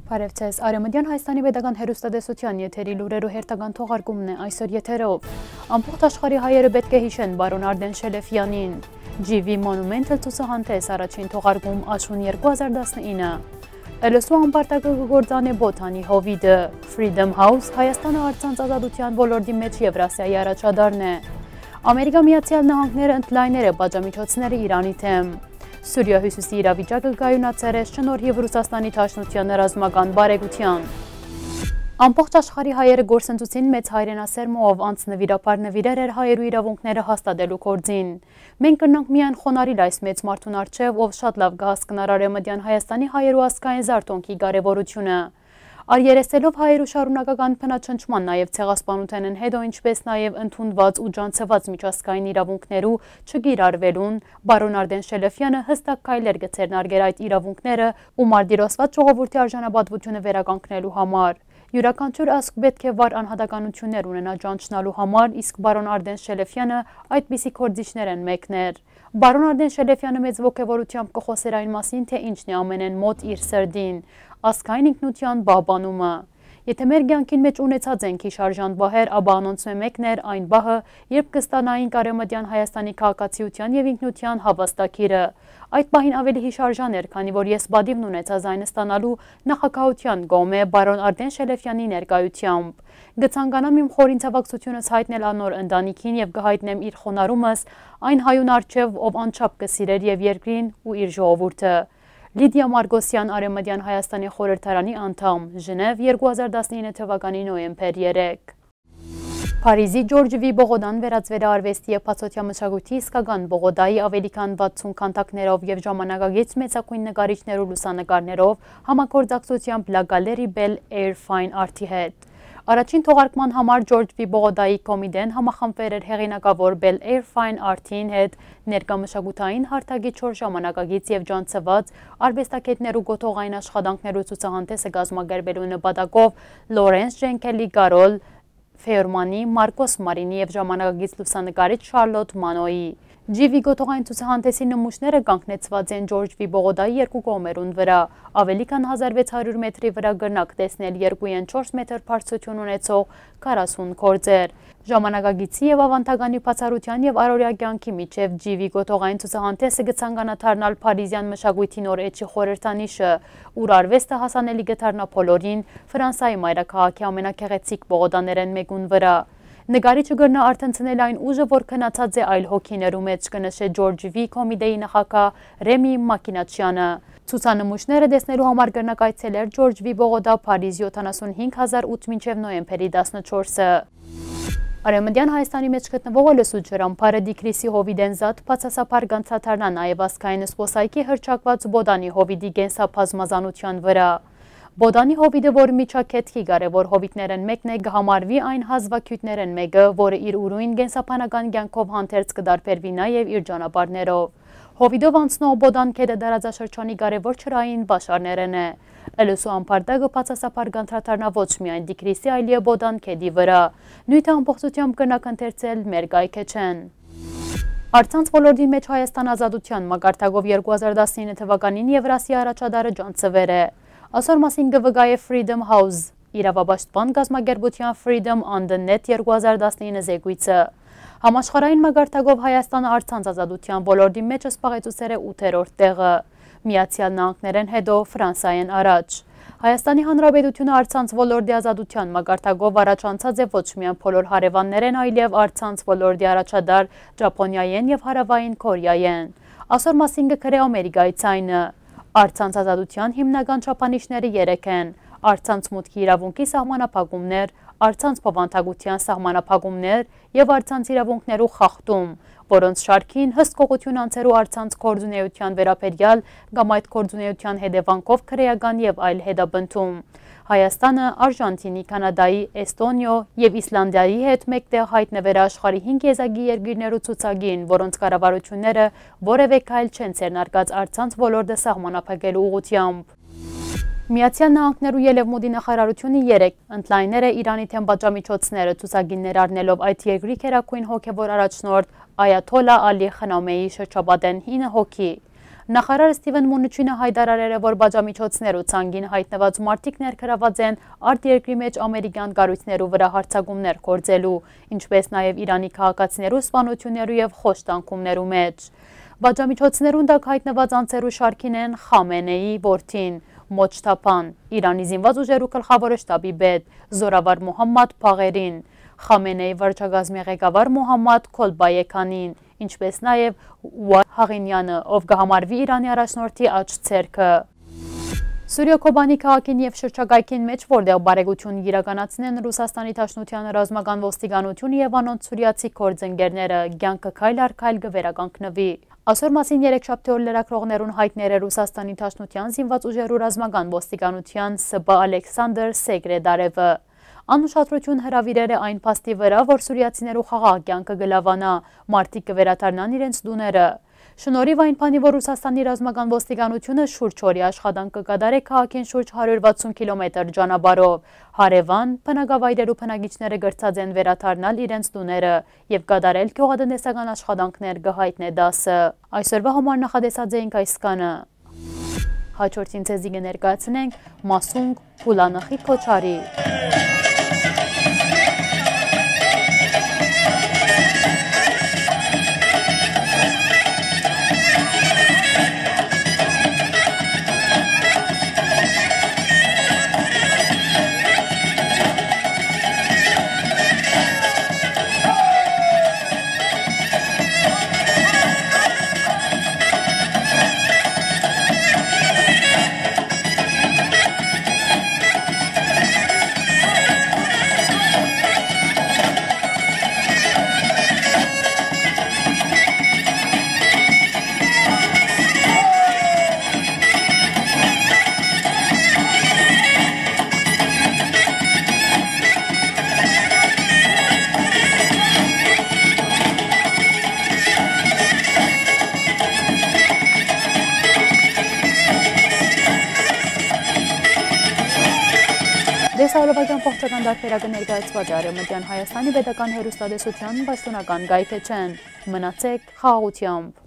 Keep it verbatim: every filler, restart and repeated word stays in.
Բարեւ ձեզ։ Արեւմտեան Հայաստանի պետական հեռուստատեսութեան եթերի լուրերու հերթական թողարկումն է այսօր եթերով։ Ամբողջ աշխարհի հայերը պէտք է յիշեն պարոն Արտեն Շելեֆեանին։ Ջիվի Մոնումենթալ ցուցահանդես առաջին թողարկում աշուն երկու հազար տասնինը։ Ըլսու ամբարտակը կը գործանէ Բոդանի հովիտը։ Freedom House Հայաստանը առցանց ազատութեան ոլորտի մէջ Եվրասիայի առաջատարն է։ Ամերիկա Միացեալ Նահանգները ընդլայներ է պատժամիջոցները Իրանի դէմ։ Սուրիա հիւսիսի իրավիճակը կայունացեր է շնորհիւ Ռուսաստանի Դաշնության ռազմական բարեկցութեան։ Ամբողջ աշխարհի հայերը գործընծուցին մեծ հայրենասերմով, անց նուիրաբար նուիրեր էր հայերու իրաւունքները հաստատելու գործին։ Մենք կրնանք միայն խոնարհիլ այս մեծ մարդուն առջեւ, ով շատ լաւ կը հասկնար Արեւմտեան Հայաստանի հայերու ազգային զարթոնքի կարեւորութիւնը։ Առերեսելով հայերու շարունակական բնաչնչման, նաեւ ցեղասպանութենէն հետո, ինչպէս նաեւ ընդունուած ու ջանցուած միջազգային իրաւունքներու չկիրառուելուն, պարոն Արտեն Շելեֆեանը յստակ քայլեր կը ձեռնարկէր այդ իրաւունքները ու մարտիրոսուած ժողովուրդի արժանապատվութիւնը վերականգնելու համար։ Իւրաքանչիւր ազգ պէտք է վառ անհատականութիւններ ունենայ ճանչնալու համար, իսկ պարոն Արտեն Շելեֆեանը այդպիսի գործիչներէն մէկն էր։ Պարոն Արտեն Շելեֆեանը մեծ ոգեւորութեամբ կը խօսէր այն մասին, թէ ինչն է ամենէն մօտ իր սրտին՝ ազգային ինքնութեան պահպանումը։ Եթէ մեր կեանքին մէջ ունեցած ենք յիշարժան պահեր, ապա անոնցմէ մէկն էր այն պահը, երբ կը ստանայինք Արեւմտեան Հայաստանի քաղաքացիութեան եւ ինքնութեան հաւաստագիրը։ Այդ պահին աւելի յիշարժան էր, քանի որ ես պատիվն ունեցայ զայն ստանալու նախագահութեան կողմէ պարոն Արտեն Շելեֆեանի ներկայութեամբ։ Կը ցանկանամ իմ խորին ցաւակցութիւնս յայտնել անոր ընտանիքին եւ կը յայտնեմ իր խոնարհումս այն հայուն առջեւ, ով անչափ կը սիրէր եւ երկրին ու իր ժողովուրդը։ Լիդիա Մարգոսեան, Արեւմտեան Հայաստանի խորհրդարանի անդամ, Ժնեւ, երկու հազար տասնինը թվականի նոյեմբեր երեք։ Փարիզի Ջորջ Վի Պողոտան վերածվել է արուեստի եւ բացօթեայ մշակոյթի իսկական Պողոտայի, աւելի քան վաթսուն քանդակներով եւ ժամանակակից մեծագոյն նկարիչներու լուսանկարներով համագործակցութեամբ La Galerie Belle Air Fine Art-ի հետ։ Առաջին թողարկման համար Ջորջ Վի Պողոտայի կոմիտեն համախմբուեր էր հեղինակաւոր Belle Air Fine Art-ին հետ, ներկայ մշակութային հարթակի չոր ժամանակակից եւ ջանցուած արուեստագէտներու կոթողային աշխատանքներու ցուցահանդէսը կազմակերպելու նպատակով Լորենս Ժենքելի Կարոլ Ֆեյորմանի, Մարկոս Մարինի եւ ժամանակակից լուսանկարիչ Շարլոտ Մանոյի։ Ջիվի կոթողային ցուցահանդէսի նմուշները կանգնեցուած են Ջորջ Վի Պողոտայի երկու կողմերուն վրայ, աւելի քան հազար վեց հարիւր մեթրի վրայ կրնաք տեսնել երկու ին չորս մեթր բարձրութիւն ունեցող քառասուն գործեր։ Ժամանակակիցի եւ աւանդականի բացառութեան եւ առօրեայ կեանքի միջեւ Ջիվի կոթողային ցուցահանդէսը կը ցանկանայ դառնալ փարիզեան մշակոյթի նոր էջի խորհրդանիշը, ուր արուեստը հասանելի կը դառնայ բոլորին, Ֆրանսայի մայրաքաղաքի ամենագեղեցիկ պողոտաներէն մէկուն վրայ։ Նկարիչը կրնայ արթնցնել այն ուժը, որ քնացած է այլ հոգիներու մէջ, կը նշէ Ջորջ Վի կոմիտեի նախագահ Ռեմի Մակինաչեանը։ Ցուցանմուշները տեսնելու համար կրնաք այցելել Ջորջ Վի Պողոտա, Փարիզ, յոթանասուն հինգ հազար ութ մինչեւ նոյեմբերի տասնչորսը։ Արեւմտեան Հայաստանի մէջ գտնուող Ըլսու ջրամբարը Տիգրիսի հովիտէն զատ բացասաբար կ'անցադառնայ նաեւ ազգային զբօսայգի հռչակուած Բոդանի հովիտի կենսաբազմազանութեան վրայ։ Բոդանի հովիտը, որ միջագետքի կարեւոր հովիտներէն մէկն է, կը համարուի այն հազուագիւտներէն մէկը, որը իր ուրոյն կենսաբանական կեանքով հանդերձ կը տարբերուի նաեւ իր ճանապարհներով։ Հովիտով անցնող Բոդան գետը տարածաշրջանի կարեւոր ջրային պաշարներէն է։ Ըլսու ամբարտակը բացասաբար կ'անդրադառնայ ոչ միայն Տիգրիսի, այլեւ Բոդան գետի վրայ։ Նիւթը ամբողջութեամբ կրնաք ընթերցել մեր կայքէջէն։ Առցանց ոլորտի մէջ Հայաստան ազատութեան մակարդակով երկու հազար տասնինը թվականին Եվրասիա առաջատարը ճանցուեր է։ Ասոր մասին կը վկայէ Freedom House իրաւապաշտպան կազմակերպութեան Freedom on the Net երկու հազար տասնինը զեկոյցը։ Համաշխարհային մակարդակով Հայաստանը առցանց ազատութեան ոլորտի մէջ զբաղեցուցեր է ութերորդ տեղը, Միացեալ Նահանգներէն հետո Ֆրանսայէն առաջ։ Հայաստանի Հանրապետությունը առցանց ոլորտի ազատութեան մակարդակով առաջանցած է ոչ միայն բոլոր հարեւաններէն, այլեւ առցանց ոլորտի առաջատար Ճապոնիայէն եւ Հարաւային Կորեայէն։ Ասոր մասին կը գրէ Ամերիկայի ձայնը։ Առցանց ազատութեան հիմնական չափանիշները երեք են՝ առցանց մուտքի իրաւունքի սահմանափակումներ, առցանց բովանդակութեան սահմանափակումներ եւ առցանց իրաւունքներու խախտում, որոնց շարքին հսկողութիւն անձերու առցանց գործունեութեան վերաբերեալ կամ այդ գործունեութեան հետեւանքով քրեական եւ այլ հետապնդում։ Հայաստանը Արժանթինի, Քանադայի, Էստոնիոյ եւ Իսլանդիայի հետ մէկտեղ յայտնուեր է աշխարհի հինգ եզակի երկիրներու ցուցակին, որոնց կառավարութիւնները որեւէ քայլ չեն ձեռնարկած առցանց ոլորտը սահմանափակելու ուղղութեամբ։ Միացեալ Նահանգներու Ելեւմուտի նախարարությունը երեկ ընդլայներ է Իրանի դէմ պատժամիջոցները, ցուցակին ներառնելով այդ երկրի գերագույն հոգեւոր առաջնորդ Այաթոլլա Ալի Խնամեի շրջապատէն հինը հոգի։ Նախարար Սթիվեն Մունուչինը յայտարարեր է, որ պատժամիջոցներու ցանկին յայտնուած մարդիկ ներգրաված են արտերկրի մէջ ամերիկեան կառոյցներու վրայ յարձակումներ գործելու, ինչպէս նաեւ Իրանի քաղաքացիներու սպանութիւններու եւ խոշտանգումներու մէջ։ Պատժամիջոցներուն տակ յայտնուած անձերու շարքին են Խամենեի որդին, Մոջթաբան, Իրանի զինված ուժերու գլխաւոր շտաբի պետ, զօրավար Մուհամմադ Բաղերին, Խամենեի վարչակազմի ղեկավար Մուհամմադ Քոլբայեքանին, ինչպէս նաեւ Ուա Հաղինյանը, ով կը համարուի Իրանի առաջնորդի աջ ձեռքը։ Սուրիոյ Քոբանի քաղաքին եւ շրջակայքին մէջ, որտեղ բարեգութիւն իրականացնեն Ռուսաստանի Դաշնութեան ռազմական ոստիկանութիւնը եւ անոնց սուրիացի գործընկերները, կեանքը քայլ առ քայլ կը վերականգնուի։ Այսօր մասին երեքշաբթի օր լրագրողներուն յայտներ է Ռուսաստանի Դաշնութեան զինված ուժերու ռազմական ոստիկանութեան սպա Ալեքսանդր Սեկրետարևը։ Ան ուշադրութիւն հրաւիրեր է այն փաստի վրայ, որ սուրիացիներու խաղաղ կեանքը կը լաւանայ, մարդիկ կը վերադառնան իրենց տուները։ Շնորհիւ այն բանի, որ Ռուսաստանի ռազմական ոստիկանութիւնը շուրջ օրի աշխատանք կը կատարէ քաղաքին շուրջ հարիւր վաթսուն քիլոմետր ճանապարհով, հարեւան բնակավայրերու բնակիչները կրցած են վերադառնալ իրենց տուները եւ կատարել գիւղատնտեսական աշխատանքներ, կը յայտնէ դասը։ Այսօրուա համար նախատեսած էինք այսքանը։ Հաջորդին ձեզի կը ներկայացնենք Մասունգ Պուլանխի քոչարի։ Տեսահոլովակեան ողջական տարբերակը ներկայացուած է Արեւմտեան Հայաստանի պետական հեռուստատեսութեան պաշտօնական կայքէջէն։ Մնացեք խաղաղութեամբ։